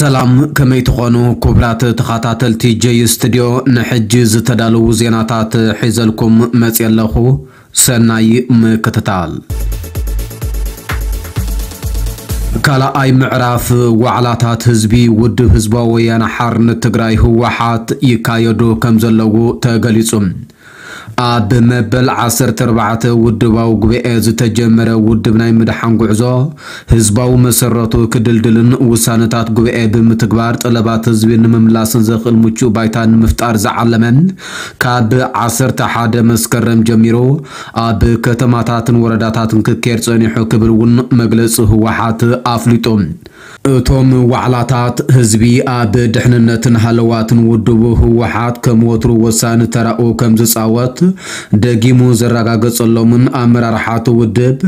ሰላም፣ ከመይ ትኾኑ ክቡራት ተኸታተልቲ ጀይ ስቱድዮ? ንሕጂ ዝተዳለዉ ዜናታት ሒዘልኩም መፅየ ኣለኹ። ሰናይ ምክትታል። ካልኣይ ምዕራፍ ዋዕላታት ህዝቢ ውድብ ህዝባዊ ወያነ ሓርነት ትግራይ ህወሓት ይካየዱ ከም ዘለዉ ተገሊጹ። ኣብ መበል ዓሰርተ ኣርባዕተ ውድባዊ ጉባኤ ዝተጀመረ ውድብ ናይ ምድሓን ጉዕዞ ህዝባዊ መሰረቱ ክድልድልን ውሳነታት ጉባኤ ብምትግባር ጠለባት ህዝቢ ንምምላስን ዘኽእል ምቹእ ባይታ ንምፍጣር ዝዓለመ ካብ ዓሰርተ ሓደ መስከረም ጀሚሩ ኣብ ከተማታትን ወረዳታትን ክካየድ ጸኒሑ ክብል እውን መግለጺ ህወሓት ኣፍሊጡ። እቶም ዋዕላታት ህዝቢ ኣብ ድሕንነትን ሃለዋትን ውድቡ ህወሓት ከም ወትሩ ወሳኒ ተራኡ ከም ዝጻወት ደጊሙ ዘረጋገጸሎምን ኣመራርሓ እቲ ውድብ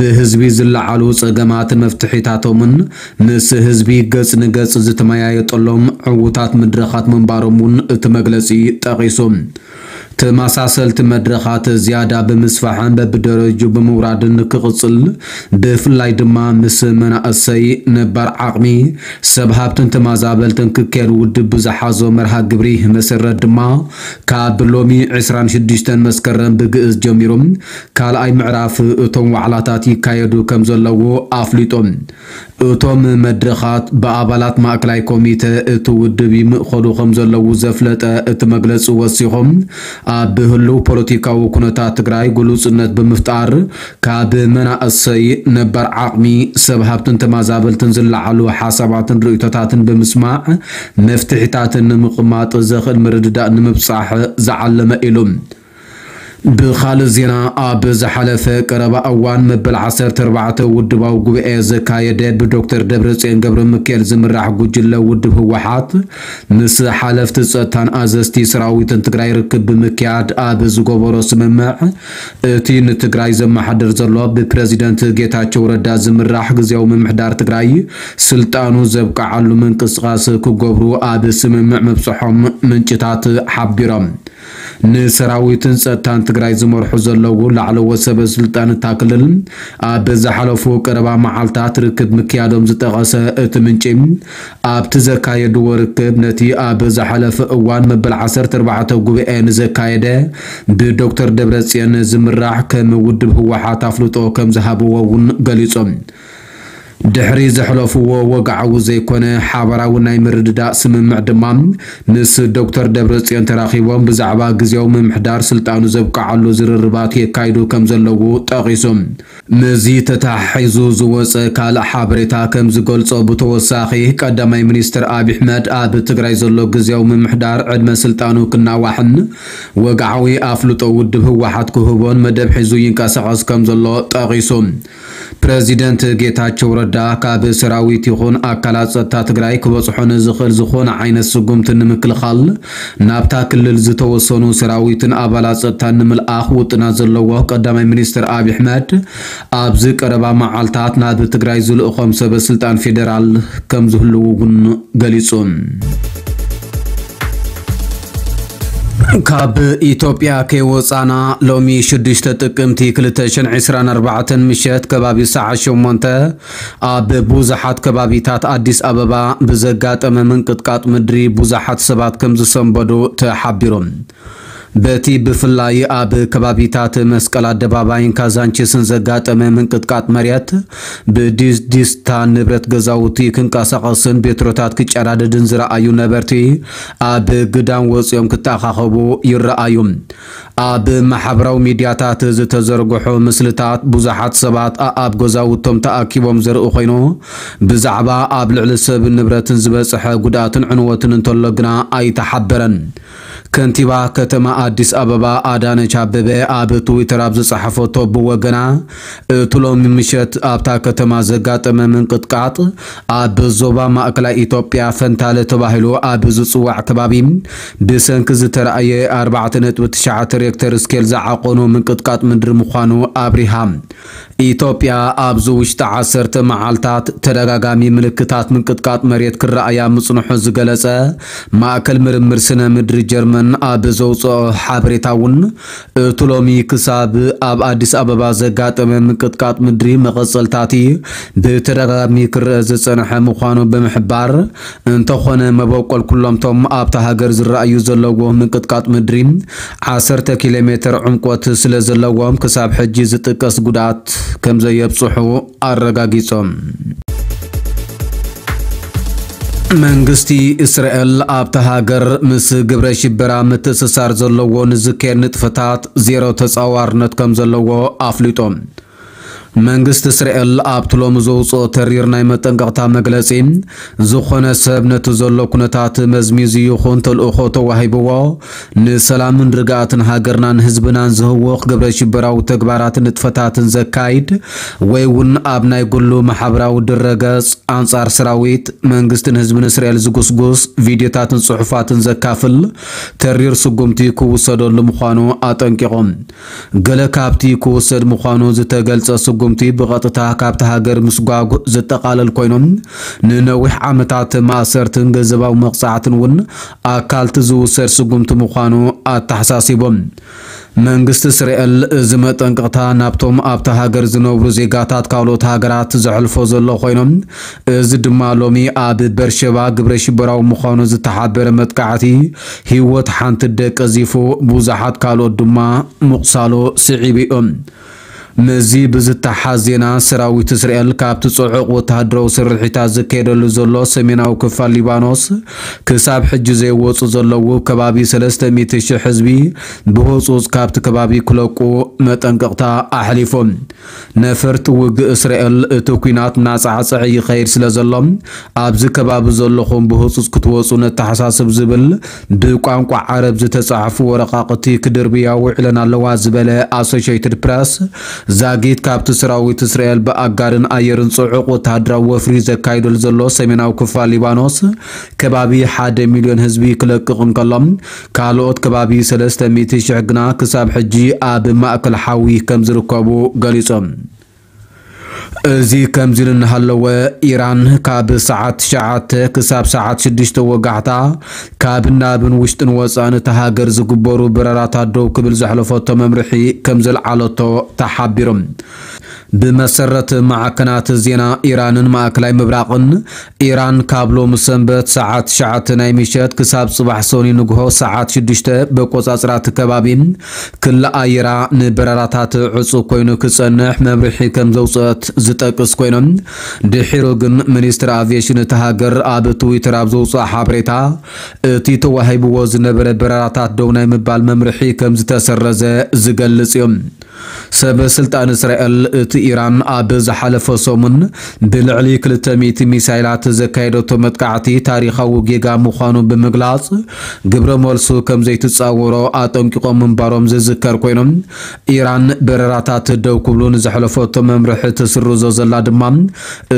ብህዝቢ ዝለዓሉ ጸገማት መፍትሒታቶምን ምስ ህዝቢ ገጽ ንገጽ ዝተመያየጠሎም ዕዉታት መድረኻት ምንባሮም እውን እቲ መግለጺ ጠቒሱ። ተመሳሰልቲ መድረኻት ዝያዳ ብምስፋሕን በብደረጅኡ ብምውራድን ንክቕጽል፣ ብፍላይ ድማ ምስ መናእሰይ፣ ነባር ዓቕሚ፣ ሰብ ሃብትን ተመዛበልትን ክካየድ ውድብ ብዝሓዞ መርሃ ግብሪ መሰረት ድማ ካብ ሎሚ ዕስራን ሽዱሽተን መስከረም ብግእዝ ጀሚሮም ካልኣይ ምዕራፍ እቶም ዋዕላታት ይካየዱ ከም ዘለዉ ኣፍሊጦም። እቶም መድረኻት ብኣባላት ማእከላይ ኮሚተ እቲ ውድብ ይምእኸሉ ከም ዘለዉ ዘፍለጠ እቲ መግለጺ ወሲኾም፣ ኣብ ህልው ፖለቲካዊ ኩነታት ትግራይ ግሉጽነት ብምፍጣር ካብ መናእሰይ፣ ነባር ዓቕሚ፣ ሰብ ሃብትን ተመዛበልትን ዝለዓሉ ሓሳባትን ርእይቶታትን ብምስማዕ መፍትሒታትን ንምቕማጥ ዘኽእል ምርድዳእ ንምብጻሕ ዝዓለመ ኢሉ። ብኻልእ ዜና፣ ኣብ ዝሓለፈ ቀረባ እዋን መበል ዓሰርተ ኣርባዕተ ውድባዊ ጉባኤ ዘካየደ ብዶክተር ደብረጽዮን ገብረ ሚካኤል ዝምራሕ ጉጅለ ውድብ ህወሓት ምስ ሓለፍቲ ጸጥታን ኣዘዝቲ ሰራዊትን ትግራይ ርክብ ብምክያድ ኣብ ዝገበሮ ስምምዕ፣ እቲ ንትግራይ ዘመሓድር ዘሎ ብፕረዚደንት ጌታቸው ረዳ ዝምራሕ ግዝያዊ ምምሕዳር ትግራይ ስልጣኑ ዘብቅዓሉ ምንቅስቓስ ክገብሩ ኣብ ስምምዕ ምብጽሖም ምንጭታት ሓቢሮም። ንሰራዊትን ጸጥታን ትግራይ ዝመርሑ ዘለዉ ላዕለዎት ሰበ ስልጣን እታ ክልል ኣብ ዝሓለፉ ቀረባ መዓልታት ርክብ ምክያዶም ዝጠቐሰ እቲ ምንጪ፣ ኣብቲ ዘካየድዎ ርክብ ነቲ ኣብ ዝሓለፈ እዋን መበል ዓሰርተ ኣርባዕተ ጉባኤ ንዘካየደ ብዶክተር ደብረጽዮን ዝምራሕ ከም ውድብ ህወሓት ኣፍልጦ ከም ዝሃብዎ እውን ገሊጾም። ድሕሪ ዘሕለፍዎ ወግዓዊ ዘይኮነ ሓባራዊ ናይ ምርድዳእ ስምምዕ ድማ ምስ ዶክተር ደብረጽዮን ተራኺቦም ብዛዕባ ግዝያዊ ምምሕዳር ስልጣኑ ዘብቅዓሉ ዝርርባት የካይዱ ከም ዘለዉ ጠቒሱ። ምስዚ ተተሓሒዙ ዝወጸ ካልእ ሓበሬታ ከም ዝገልጾ፣ ብተወሳኺ ቀዳማይ ሚኒስትር ኣብይ ኣሕመድ ኣብ ትግራይ ዘሎ ግዝያዊ ምምሕዳር ዕድመ ስልጣኑ ክናዋሕን ወግዓዊ ኣፍልጦ ውድብ ህወሓት ክህቦን መደብ ሒዙ ይንቀሳቐስ ከም ዘሎ ጠቒሱ። ፕረዚደንት ጌታቸው ረዳ ካብ ሰራዊት ይኹን ኣካላት ጸጥታ ትግራይ ክበጽሖ ንዝኽእል ዝኾነ ዓይነት ስጉምቲ ንምክልኻል ናብታ ክልል ዝተወሰኑ ሰራዊትን ኣባላት ጸጥታን ንምልኣኽ ውጥናት ዘለዎ ቀዳማይ ሚኒስትር ኣብይ ኣሕመድ ኣብዚ ቀረባ መዓልታት ናብ ትግራይ ዝልእኾም ሰበ ስልጣን ፌደራል ከም ዝህልዉ እውን ገሊጹ። ካብ ኢትዮጵያ ከይወጻና ሎሚ ሽዱሽተ ጥቅምቲ ክልተ ሽሕን ዕስራን ኣርባዕተን ምሸት ከባቢ ሰዓት ሸሞንተ ኣብ ብዙሓት ከባቢታት ኣዲስ ኣበባ ብዘጋጠመ ምንቅጥቃጥ ምድሪ ብዙሓት ሰባት ከም ዝሰንበዱ ተሓቢሩ። በቲ ብፍላይ ኣብ ከባቢታት መስቀል ኣደባባይን ካዛንቺስን ዘጋጠመ ምንቅጥቃጥ መሬት ብድስድስታ ንብረት ገዛውቲ ክንቀሳቐስን ቤትሮታት ክጨራደድን ዝረኣዩ ነበርቲ ኣብ ግዳም ወፂኦም ክተኣኻኸቡ ይረኣዩ። ኣብ ማሕበራዊ ሚድያታት ዝተዘርግሑ ምስልታት ብዙሓት ሰባት ኣኣብ ገዛውቶም ተኣኪቦም ዘርኢ ኮይኑ፣ ብዛዕባ ኣብ ልዕሊ ሰብን ንብረትን ዝበፅሐ ጉድኣትን ዕንወትን እንተሎ ግና ኣይተሓበረን። ከንቲባ ከተማ ኣዲስ ኣበባ ኣዳነች ኣበበ ኣብ ትዊተር ኣብ ዝፀሓፈቶ ብወገና፣ እቲ ሎሚ ምሸት ኣብታ ከተማ ዘጋጠመ ምንቅጥቃጥ ኣብ ዞባ ማእከላይ ኢትዮጵያ ፈንታለ ተባሂሉ ኣብ ዝፅዋዕ ከባቢ ብሰንኪ ዝተረኣየ ኣርባዕተ ነጥቢ ትሽዓተ ሬክተር ስኬል ዝዓቆኑ ምንቅጥቃጥ ምድሪ ምዃኑ ኣብሪሃ። ኢትዮጵያ ኣብዚ ውሽጢ ዓሰርተ መዓልታት ተደጋጋሚ ምልክታት ምንቅጥቃጥ መሬት ክረኣያ ምጽንሑ ዝገለጸ ማእከል ምርምር ስነ ምድሪ ጀርመን ኣብ ዘውፅኦ ሓበሬታ እውን፣ እቲ ሎሚ ክሳብ ኣብ ኣዲስ ኣበባ ዘጋጠመ ምንቅጥቃጥ ምድሪ መቐፀልታቲ ብተደጋጋሚ ክረአ ዝፀንሐ ምዃኑ ብምሕባር፣ እንተኾነ መበቆል ኩሎምቶም ኣብታ ሃገር ዝረኣዩ ዘለዎ ምንቅጥቃጥ ምድሪ ዓሰርተ ኪሎ ሜትር ዕምቆት ስለ ዘለዎም ክሳብ ሕጂ ዝጥቀስ ጉድኣት ከም ዘየብፅሑ ኣረጋጊጾም። መንግስቲ እስራኤል ኣብታ ሃገር ምስ ግብረ ሽበራ ምትእስሳር ዘለዎ ንዝካየድ ንጥፈታት ዜሮ ተጻዋርነት ከም ዘለዎ ኣፍሊጦም። መንግስቲ እስራኤል ኣብቲ ሎሚ ዘውፅኦ ተሪር ናይ መጠንቀቕታ መግለጺ፣ ዝኾነ ሰብ ነቲ ዘሎ ኩነታት መዝሚዙ ይኹን ተልእኾ ተዋሂብዎ ንሰላምን ርግኣትን ሃገርናን ህዝብናን ዝህውኽ ግብረ ሽበራዊ ተግባራትን ንጥፈታትን ዘካይድ ወይ እውን ኣብ ናይ ግሉ ማሕበራዊ ድረገጽ ኣንጻር ሰራዊት መንግስትን ህዝብን እስራኤል ዝጉስጉስ ቪድዮታትን ጽሑፋትን ዘካፍል ተሪር ስጉምቲ ክውሰደሉ ምዃኑ ኣጠንቂቖም። ገለ ካብቲ ክውሰድ ምዃኑ ዝተገልጸ ስጉምቲ ብቐጥታ ካብቲ ሃገር ምስጓግ ዘጠቓለል ኮይኖም፣ ንነዊሕ ዓመታት ማእሰርትን ገንዘባዊ መቕጻዕትን እውን ኣካልቲ ዝውሰድ ስጉምቲ ምዃኑ ኣተሓሳሲቦም። መንግስቲ እስራኤል እዚ መጠንቀቕታ ናብቶም ኣብታ ሃገር ዝነብሩ ዜጋታት ካልኦት ሃገራት ዘሕልፎ ዘሎ ኮይኖም፣ እዚ ድማ ሎሚ ኣብ በርሸባ ግብረ ሽበራዊ ምዃኑ ዝተሓበረ መጥቃዕቲ ህይወት ሓንቲ ደቂ ቀዚፉ ብዙሓት ካልኦት ድማ ምቑሳሉ ስዒቡ እዩ። ምስዚ ብዝተሓዝ ዜና፣ ሰራዊት እስራኤል ካብቲ ጽዑቕ ወተሃደራዊ ስርሒታት ዝካየደሉ ዘሎ ሰሜናዊ ክፋል ሊባኖስ ክሳብ ሕጂ ዘይወጹ ዘለዉ ከባቢ ሰለስተ ሚእቲ ሽሕ ህዝቢ ብህጹጽ ካብቲ ከባቢ ክለቁ መጠንቀቕታ ኣሕሊፉ። ነፈርቲ ውግእ እስራኤል እቲ ኲናት እናጻዕጸዐ ይኸይድ ስለ ዘሎ፣ ኣብዚ ከባቢ ዘለኹም ብህጹጽ ክትወጹ ነተሓሳስብ ዝብል ብቋንቋ ዓረብ ዝተጻሕፉ ወረቓቕቲ ክድርብያ ውዒለን ኣለዋ ዝበለ ኣሶሼይትድ ፕረስ፣ ዛጊት ካብቲ ሰራዊት እስራኤል ብኣጋርን ኣየርን ጽዑቕ ወተሃደራዊ ወፍሪ ዘካይደሉ ዘሎ ሰሜናዊ ክፋል ሊባኖስ ከባቢ ሓደ ሚልዮን ህዝቢ ክለቅቕ እንከሎ፣ ካልኦት ከባቢ ሰለስተ ሚእቲ ሽሕ ግና ክሳብ ሕጂ ኣብ ማእከል ሓዊ ከም ዝርከቡ ገሊጾም። እዚ ከምዚ ኢሉ እናሃለወ፣ ኢራን ካብ ሰዓት ትሽዓተ ክሳብ ሰዓት ሽዱሽተ ወጋሕታ ካብን ናብን ውሽጥን ወፃእን እታ ሃገር ዝግበሩ በረራታት ደው ክብል ዘሕለፈቶ መምርሒ ከም ዘልዓለቶ ተሓቢሩ። ብመሰረት ማዕከናት ዜና ኢራንን ማእከላይ ምብራቕን፣ ኢራን ካብ ሎሚ ሰንበት ሰዓት ትሽዓተ ናይ ምሸት ክሳብ ጽባሕ ሰኑይ ንግሆ ሰዓት ሽዱሽተ በቆጻጽራ እቲ ከባቢ ክሊ ኣየራ ንበረራታት ዕጹ ኮይኑ ክጸንሕ መምርሒ ከም ዘውጽአት ዝጠቅስ ኮይኖም፣ ድሒሩ ግን ሚኒስትሪ ኣቪዬሽን እታ ሃገር ኣብ ትዊተር ኣብ ዘውጽኦ ሓበሬታ፣ እቲ ተዋሂብዎ ዝነበረ በረራታት ደው ናይ ምባል መምርሒ ከም ዝተሰረዘ ዝገልጽ እዩ። ሰበ ስልጣን እስራኤል፣ እቲ ኢራን ኣብ ዝሓለፈ ሰሙን ብልዕሊ ክልተ ሚእቲ ሚሳይላት ዘካየደቶ መጥቃዕቲ ታሪኻዊ ጌጋ ምዃኑ ብምግላጽ፣ ግብረ መልሱ ከም ዘይትጻወሮ ኣጠንቂቖም ምንባሮም ዝዝከር ኮይኖም፣ ኢራን በረራታት ደው ክብሉ ንዘሕለፈቶ መምርሒ ትስርዞ ዘላ ድማ፣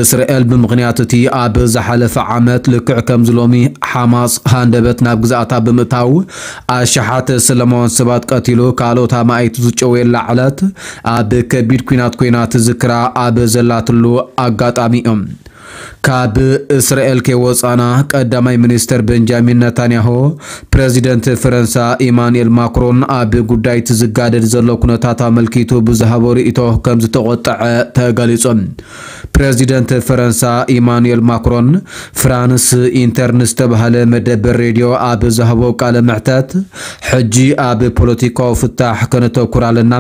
እስራኤል ብምኽንያት እቲ ኣብ ዝሓለፈ ዓመት ልክዕ ከምዚ ሎሚ ሓማስ ሃንደበት ናብ ግዝኣታ ብምእታው ኣሽሓት ሰላማውያን ሰባት ቀቲሉ ካልኦት ኣማኢት ዝጨወየላ ዕለት ኣብ ከቢድ ኲናት ኮይና ትዝክራ ኣብ ዘላትሉ ኣጋጣሚ እዮም። ካብ እስራኤል ከይወጻና ቀዳማይ ሚኒስተር ቤንጃሚን ነታንያሁ ፕረዚደንት ፈረንሳ ኢማኑኤል ማክሮን ኣብ ጉዳይ እቲ ዝጋደድ ዘሎ ኩነታት ኣመልኪቱ ብዝሃቦ ርእይቶ ከም ዝተቖጠዐ ተገሊጹ። ፕረዚደንት ፈረንሳ ኢማኑኤል ማክሮን ፍራንስ ኢንተር ንዝተባህለ መደበር ሬድዮ ኣብ ዝሃቦ ቃለ መሕተት፣ ሕጂ ኣብ ፖለቲካዊ ፍታሕ ከነተኩር ኣለና፣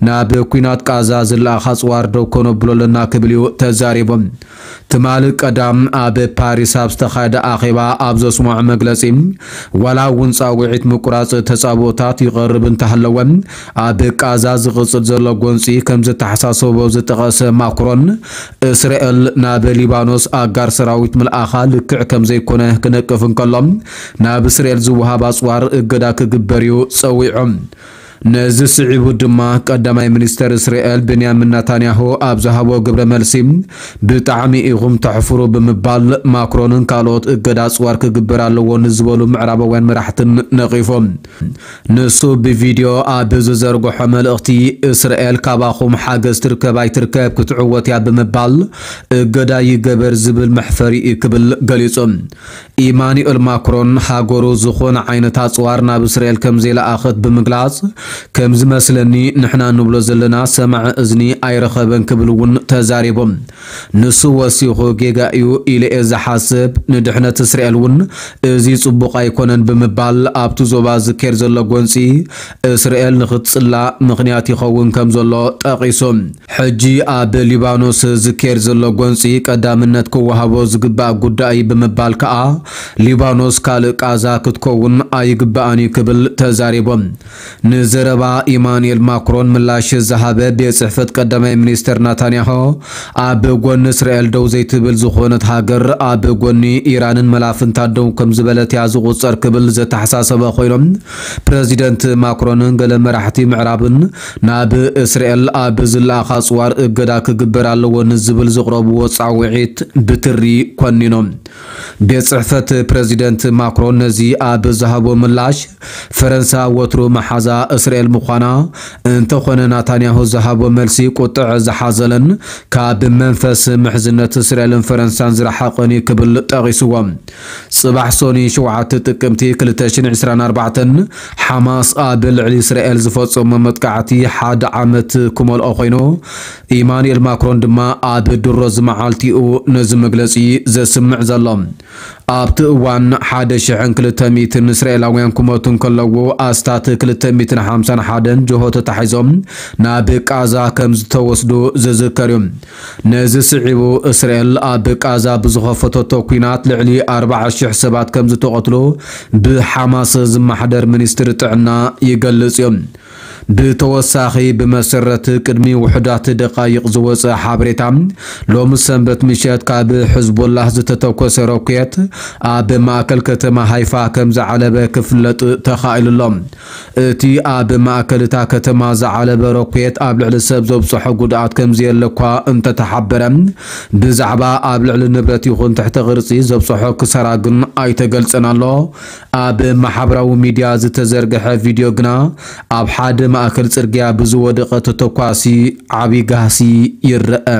ናብ ኲናት ቃዛ ዝለኣኽ ኣጽዋር ደው ከነብሎ ኣለና ክብል እዩ ተዛሪቡ። ትማሊ ቀዳም ኣብ ፓሪስ ኣብ ዝተኻየደ ኣኼባ ኣብ ዘስምዖ መግለጺ፣ ዋላ እውን ጻውዒት ምቁራጽ ተጻብኦታት ይቐርብ እንተሃለወ፣ ኣብ ቃዛ ዝቕጽል ዘሎ ጎንጺ ከም ዘተሓሳሰቦ ዝጠቐሰ ማክሮን፣ እስራኤል ናብ ሊባኖስ ኣጋር ሰራዊት ምልኣኻ ልክዕ ከም ዘይኮነ ክነቅፍ እንከሎ፣ ናብ እስራኤል ዝወሃብ ኣጽዋር እገዳ ክግበር እዩ ጸዊዑ። ነዚ ስዒቡ ድማ ቀዳማይ ሚኒስተር እስራኤል ቤንያሚን ናታንያሁ ኣብ ዝሃቦ ግብረ መልሲ፣ "ብጣዕሚ ኢኹም ተሕፍሩ" ብምባል ማክሮንን ካልኦት እገዳ ኣጽዋር ክግበር ኣለዎ ንዝበሉ ምዕራባውያን መራሕትን ነቒፎም። ንሱ ብቪድዮ ኣብ ዝዘርግሖ መልእኽቲ፣ "እስራኤል ካባኹም ሓገዝ ትርከብ ኣይትርከብ ክትዕወት እያ" ብምባል እገዳ ይገበር ዝብል መሕፈሪ እዩ ክብል ገሊጹ። ኢማኑኤል ማክሮን ሃገሩ ዝኾነ ዓይነት ኣጽዋር ናብ እስራኤል ከም ዘይለኣኸት ብምግላጽ፣ "ከም ዝመስለኒ ንሕና ንብሎ ዘለና ሰማዒ እዝኒ ኣይረኸበን" ክብል እውን ተዛሪቡ። ንሱ ወሲኹ፣ "ጌጋ እዩ ኢለ እየ ዝሓስብ፣ ንድሕነት እስራኤል እውን እዚ ጽቡቕ ኣይኮነን" ብምባል ኣብቲ ዞባ ዝካየድ ዘሎ ጎንጺ እስራኤል ንኽትጽላእ ምኽንያት ይኸውን ከም ዘሎ ጠቒሱ። ሕጂ ኣብ ሊባኖስ ዝካየድ ዘሎ ጎንጺ ቀዳምነት ክወሃቦ ዝግባእ ጉዳይ ብምባል ከኣ፣ ሊባኖስ ካልእ ቃዛ ክትከውን ኣይግባኣን እዩ ክብል ተዛሪቦም። ንዘረባ ኢማኑኤል ማክሮን ምላሽ ዝሃበ ቤት ጽሕፈት ቀዳማይ ሚኒስተር ናታንያሆ፣ ኣብ ጎኒ እስራኤል ደው ዘይትብል ዝኾነት ሃገር ኣብ ጎኒ ኢራንን መላፍንታ ደው ከም ዝበለት እያ ዝቑጸር ክብል ዘተሓሳሰበ ኮይኖም፣ ፕረዚደንት ማክሮንን ገለ መራሕቲ ምዕራብን ናብ እስራኤል ኣብ ዝለኣኻ ኣጽዋር እገዳ ክግበር ኣለዎ ንዝብል ዝቕረብዎ ጻውዒት ብትሪ ኮኒኖም። ቤት ጽሕፈት ፕረዚደንት ማክሮን ነዚ ኣብ ዝሃቦ ምላሽ፣ ፈረንሳ ወትሩ መሓዛ እስራኤል ምዃና፣ እንተኾነ ናታንያሁ ዝሃቦ መልሲ ቁጥዕ ዝሓዘለን ካብ መንፈስ ምሕዝነት እስራኤልን ፈረንሳን ዝረሓቐን እዩ ክብል ጠቒስዎ። ጽባሕ ሶኒ ሸውዓተ ጥቅምቲ ክልተ ሽሕን ዕስራን ኣርባዕተን፣ ሓማስ ኣብ ልዕሊ እስራኤል ዝፈጸሞ መጥቃዕቲ ሓደ ዓመት ክመልኦ ኮይኑ፣ ኢማኑኤል ማክሮን ድማ ኣብ ድሮ ዝመዓልቲኡ ነዚ መግለጺ ዘስምዕ ዘሎ። ኣብቲ እዋን ሓደ ሽሕን ክልተ ሚእትን እስራኤላውያን ክሞቱ እንከለዉ፣ ኣስታት ክልተ ሚእትን ሓምሳን ሓደን ጅሆ ተታሒዞም ናብ ቃዛ ከም ዝተወስዱ ዝዝከር እዩ። ነዚ ስዒቡ፣ እስራኤል ኣብ ቃዛ ብዝኸፈተቶ ኲናት ልዕሊ ኣርባዓ ሽሕ ሰባት ከም ዝተቐትሉ ብሓማስ ዝመሓደር ሚኒስትሪ ጥዕና ይገልጽ እዩ። ብተወሳኺ፣ ብመሰረት ቅድሚ ውሑዳት ደቓይቕ ዝወጸ ሓበሬታ፣ ሎሚ ሰንበት ምሸት ካብ ሕዝቦላህ ዝተተኮሰ ሮኬት ኣብ ማእከል ከተማ ሃይፋ ከም ዝዓለበ ክፍለጥ ተኻኢሉ ኣሎ። እቲ ኣብ ማእከል እታ ከተማ ዝዓለበ ሮኬት ኣብ ልዕሊ ሰብ ዘብጽሖ ጉድኣት ከም ዘየለ እኳ እንተተሓበረ፣ ብዛዕባ ኣብ ልዕሊ ንብረት ይኹን ትሕቲ ቅርጺ ዘብጽሖ ክሳራ ግን ኣይተገልጸን ኣሎ። ኣብ ማሕበራዊ ሚድያ ዝተዘርግሐ ቪድዮ ግና፣ ኣብ ሓደ ማእከል ጽርግያ ብዝወደቐ ተተኳሲ ዓቢ ጋህሲ ይረአ።